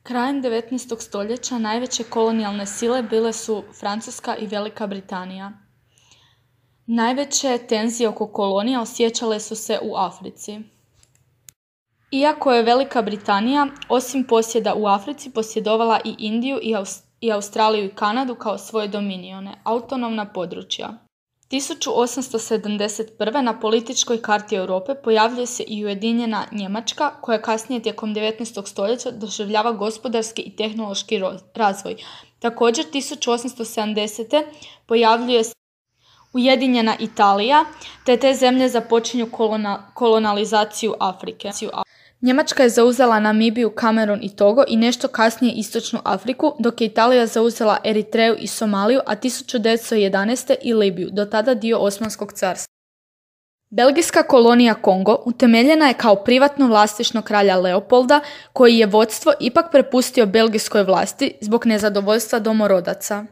Krajem 19. stoljeća najveće kolonijalne sile bile su Francuska i Velika Britanija. Najveće tenzije oko kolonija osjećale su se u Africi. Iako je Velika Britanija, osim posjeda u Africi, posjedovala i Indiju i Australiju i Kanadu kao svoje dominione, autonomna područja. 1871. na političkoj karti Europe pojavljuje se i Ujedinjena Njemačka, koja kasnije tijekom 19. stoljeća doživljava gospodarski i tehnološki razvoj. Također 1870. pojavljuje se Ujedinjena Italija, te zemlje započinju kolonizaciju Afrike. Njemačka je zauzela Namibiju, Kamerun i Togo i nešto kasnije istočnu Afriku, dok je Italija zauzela Eritreju i Somaliju, a 1911. i Libiju, do tada dio Osmanskog carstva. Belgijska kolonija Kongo utemeljena je kao privatno vlasništvo kralja Leopolda, koji je vodstvo ipak prepustio belgijskoj vlasti zbog nezadovoljstva domorodaca.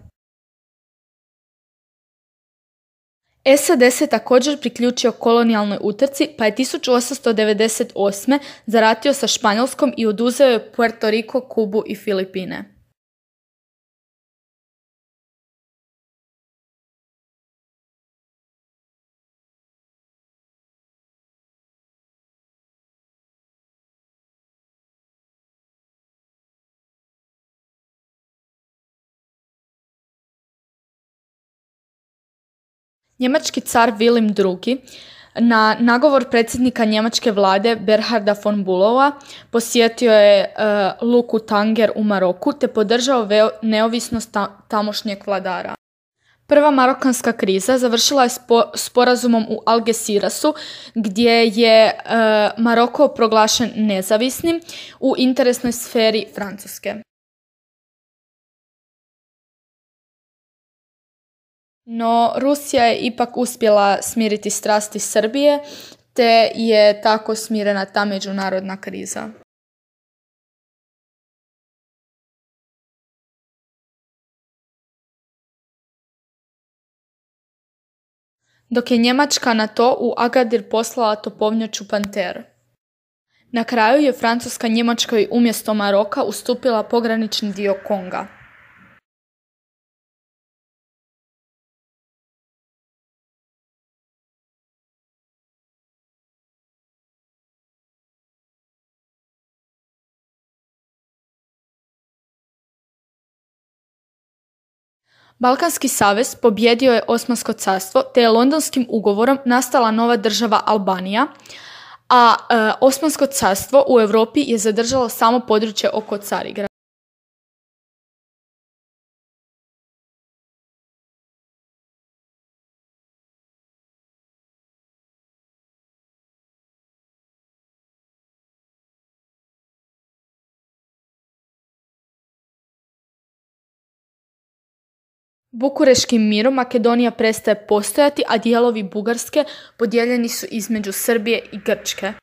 SAD se također priključio kolonijalnoj utrci, pa je 1898. zaratio sa Španjolskom i oduzeo je Puerto Rico, Kubu i Filipine. Njemački car Wilhelm II. Na nagovor predsjednika njemačke vlade Bernharda von Bülowa posjetio je luku Tanger u Maroku te podržao neovisnost tamošnjeg vladara. Prva marokanska kriza završila je sporazumom u Algecirasu, gdje je Maroko proglašen nezavisnim u interesnoj sferi Francuske. No, Rusija je ipak uspjela smiriti strasti Srbije, te je tako smirena ta međunarodna kriza. Dok je Njemačka na to u Agadir poslala topovnjaču Panter. Na kraju je Francuska Njemačkoj umjesto Maroka ustupila pogranični dio Konga. Balkanski savez pobjedio je Osmansko carstvo, te je Londonskim ugovorom nastala nova država Albanija, a Osmansko carstvo u Europi je zadržalo samo područje oko Carigrada. Bukureškim mirom Makedonija prestaje postojati, a dijelovi Bugarske podijeljeni su između Srbije i Grčke.